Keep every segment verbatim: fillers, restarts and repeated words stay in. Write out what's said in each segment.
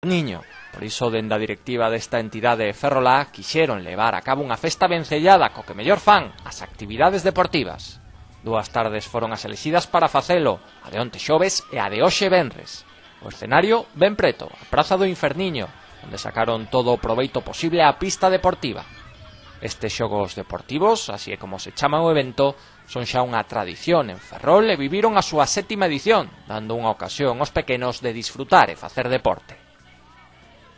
Niño. Por iso, dende a directiva desta entidade Ferrolá, quixeron levar a cabo unha festa vencellada co que mellor fan, as actividades deportivas. Dúas tardes foron as elixidas para facelo, a de onte xoves e a de hoxe venres. O escenario, ben preto, a Praza do Inferniño, onde sacaron todo o proveito posible á pista deportiva. Estes xogos deportivos, así é como se chama o evento, son xa unha tradición en Ferrol e viviron a súa sétima edición, dando unha ocasión aos pequenos de disfrutar e facer deporte.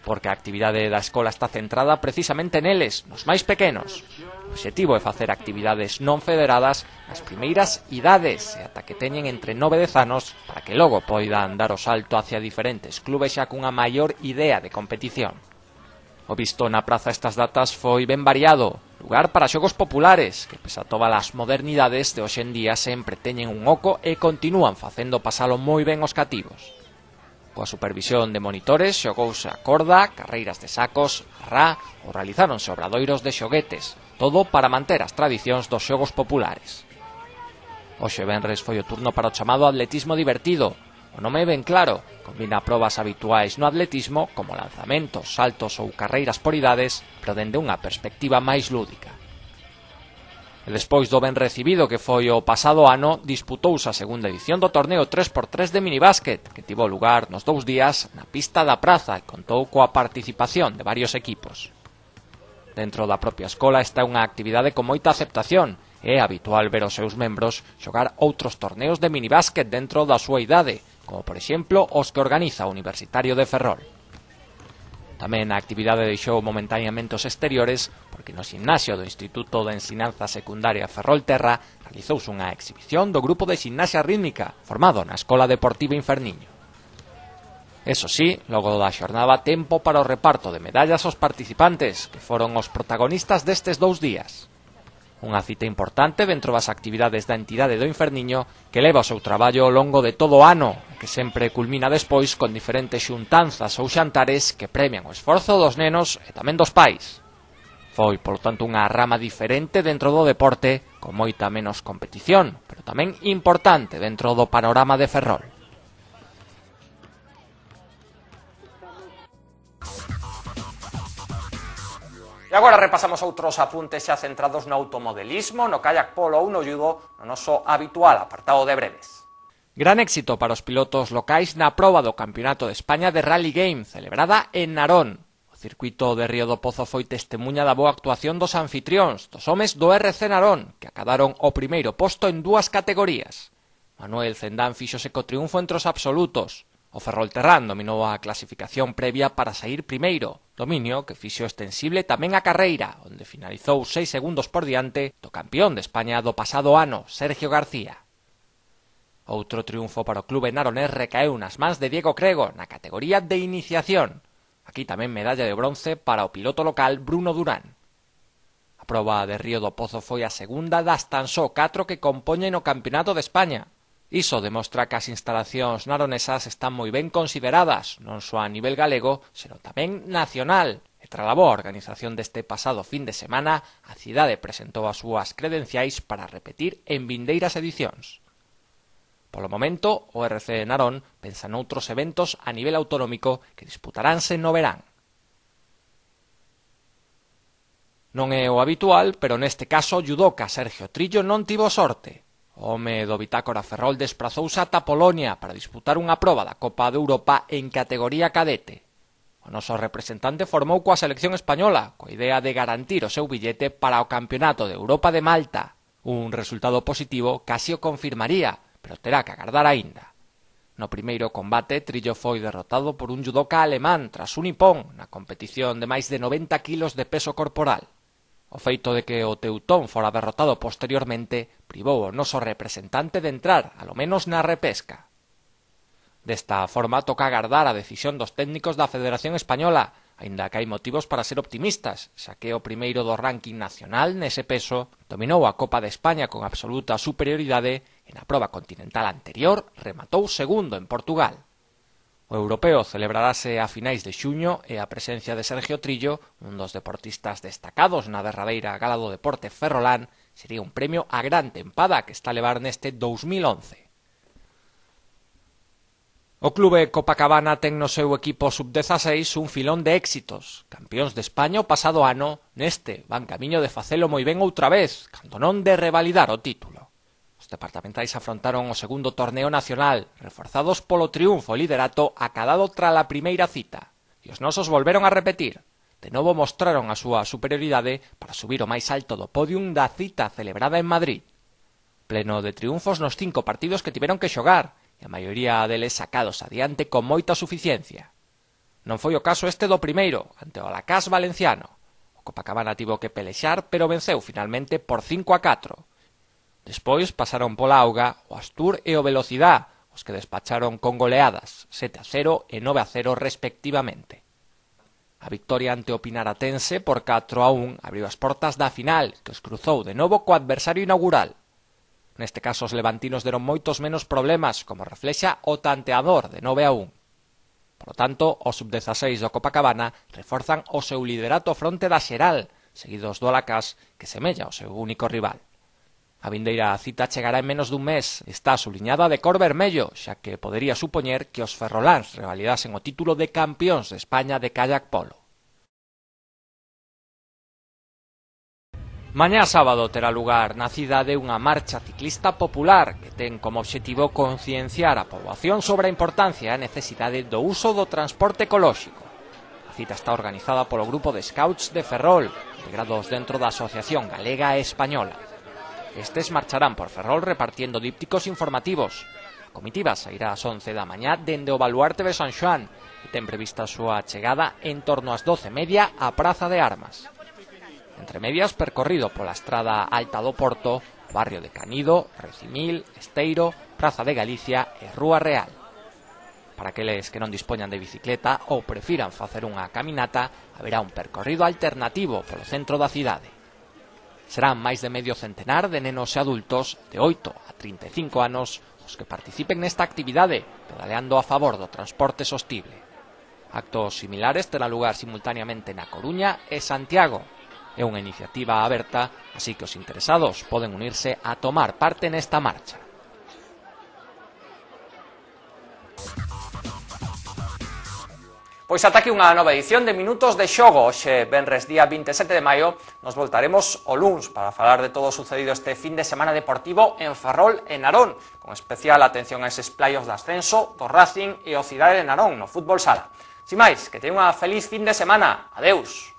Porque a actividade da escola está centrada precisamente neles, nos máis pequenos. O obxectivo é facer actividades non federadas nas primeiras idades e ata que teñen entre nove e dez anos para que logo poidan dar o salto hacia diferentes clubes xa cunha maior idea de competición. O visto na praza estas datas foi ben variado, lugar para xogos populares que, pese a todas as modernidades de hoxe en día, sempre teñen un oco e continúan facendo pasalo moi ben os cativos. Coa supervisión de monitores xogouse a corda, carreiras de sacos, a rá ou realizáronse obradoiros de xoguetes, todo para manter as tradicións dos xogos populares. Hoxe venres foi o turno para o chamado atletismo divertido. O nome é ben claro, combina probas habituais no atletismo como lanzamentos, saltos ou carreiras por idades, pero dende unha perspectiva máis lúdica. E despois do ben recibido que foi o pasado ano, disputouse a segunda edición do torneo tres por tres de minibásquet, que tivo lugar nos dous días na pista da praza e contou coa participación de varios equipos. Dentro da propia escola está unha actividade con moita aceptación, e é habitual ver os seus membros xogar outros torneos de minibásquet dentro da súa idade, como por exemplo os que organiza o Universitario de Ferrol. Tamén a actividade deixou momentaneamente os exteriores porque no ximnasio do Instituto de Ensinanza Secundaria Ferrolterra realizouse unha exhibición do grupo de ximnasia rítmica formado na Escola Deportiva Inferniño. Eso sí, logo da xornada tempo para o reparto de medallas aos participantes, que foron os protagonistas destes dous días. Unha cita importante dentro das actividades da entidade do Inferniño que leva o seu traballo ao longo de todo o ano, que sempre culmina despois con diferentes xuntanzas ou xantares que premian o esforzo dos nenos e tamén dos pais. Foi, polo tanto, unha rama diferente dentro do deporte, con moita menos competición, pero tamén importante dentro do panorama de Ferrol. E agora repasamos outros apuntes xa centrados no automodelismo, no kayak polo ou no judo, no noso habitual apartado de breves. Gran éxito para os pilotos locais na proba do Campeonato de España de Rally Game, celebrada en Narón. O circuito de Río do Pozo foi testemuña da boa actuación dos anfitrións, dos homes do R C Narón, que acadaron o primeiro posto en dúas categorías. Manuel Cendán fíxose co triunfo entre os absolutos. O Ferrolterrán dominou a clasificación previa para saír primeiro, dominio que fixo extensible tamén a carreira, onde finalizou seis segundos por diante do campeón de España do pasado ano, Sergio García. Outro triunfo para o clube naronés recaeu nas mans de Diego Crego na categoría de iniciación. Aquí tamén medalla de bronce para o piloto local Bruno Durán. A proba de Río do Pozo foi a segunda das tan só catro que compoñen o Campeonato de España. Iso demostra que as instalacións naronesas están moi ben consideradas, non só a nivel galego, senón tamén nacional. E tras a boa organización deste pasado fin de semana, a cidade presentou as súas credenciais para repetir en vindeiras edicións. Polo momento, o R C Narón pensa noutros eventos a nivel autonómico que disputaránse no verán. Non é o habitual, pero neste caso o judoka Sergio Trillo non tivo sorte. O home do Bitácora Ferrol desprazouse ata Polonia para disputar unha proba da Copa de Europa en categoría cadete. O noso representante formou coa selección española, coa idea de garantir o seu billete para o Campeonato de Europa de Malta. Un resultado positivo casi o confirmaría, pero terá que agardar aínda. No primeiro combate, Trillo foi derrotado por un judoka alemán tras un nipón na competición de máis de noventa kilos de peso corporal. O feito de que o teutón fora derrotado posteriormente privou o noso representante de entrar, alo menos na repesca. Desta forma toca agardar a decisión dos técnicos da Federación Española, aínda que hai motivos para ser optimistas, xa que o primeiro do ranking nacional nese peso dominou a Copa de España con absoluta superioridade e na proba continental anterior rematou segundo en Portugal. O europeo celebrarase a finais de xuño e a presencia de Sergio Trillo, un dos deportistas destacados na derradeira gala do deporte ferrolán, sería un premio a gran tempada que está a levar neste dous mil once. O clube Copacabana ten no seu equipo sub dezaseis un filón de éxitos. Campións de España o pasado ano, neste van camiño de facelo moi ben outra vez, cando non de revalidar o título. Os departamentais afrontaron o segundo torneo nacional, reforzados polo triunfo e liderato acadado tras a primeira cita. E os nosos volveron a repetir. De novo mostraron a súa superioridade para subir o máis alto do pódium da cita celebrada en Madrid. Pleno de triunfos nos cinco partidos que tiveron que xogar, e a maioría deles sacados adiante con moita suficiencia. Non foi o caso este do primeiro, ante o Alacás valenciano. O Copacabana tivo que pelexar, pero venceu finalmente por cinco a catro. Despois pasaron pola auga o Astur e o Velocidad, os que despacharon con goleadas, sete a cero e nove a cero respectivamente. A victoria ante o Pinaratense por catro a un abriu as portas da final, que os cruzou de novo co adversario inaugural. Neste caso, os levantinos deron moitos menos problemas, como reflexa o tanteador de nove a un. Por lo tanto, os sub dezaseis do Copacabana reforzan o seu liderato fronte da xeral, seguidos do Alacás, que semella o seu único rival. A vindeira cita chegará en menos dun mes, está subliñada de cor vermello, xa que podería supoñer que os ferroláns revalidasen o título de campións de España de kayak polo. Mañá sábado terá lugar na cidade unha marcha ciclista popular que ten como obxectivo concienciar a poboación sobre a importancia e a necesidade do uso do transporte ecolóxico. A cita está organizada polo grupo de Scouts de Ferrol, integrados dentro da Asociación Galega e Española. Estes marcharán por Ferrol repartiendo dípticos informativos. A comitiva sairá ás once da mañá dende o Baluarte de San Xoán e ten prevista a súa chegada en torno ás doce e media á Praza de Armas. Entre medias, percorrido pola estrada Alta do Porto, barrio de Canido, Recimil, Esteiro, Praza de Galicia e Rúa Real. Para aqueles que non dispoñan de bicicleta ou prefiran facer unha caminata, haberá un percorrido alternativo polo centro da cidade. Serán máis de medio centenar de nenos e adultos de oito a trinta e cinco anos os que participen nesta actividade, pedaleando a favor do transporte sostible. Actos similares terán lugar simultaneamente na Coruña e Santiago. É unha iniciativa aberta, así que os interesados poden unirse a tomar parte nesta marcha. Pois ata aquí unha nova edición de Minutos de Xogo. Hoxe, venres día vinte e sete de maio, nos voltaremos o luns para falar de todo o sucedido este fin de semana deportivo en Ferrol e Narón, con especial atención a eses playos de ascenso do Racing e o Cidade de Narón no fútbol sala. Sin máis, que teña unha feliz fin de semana. Adeus.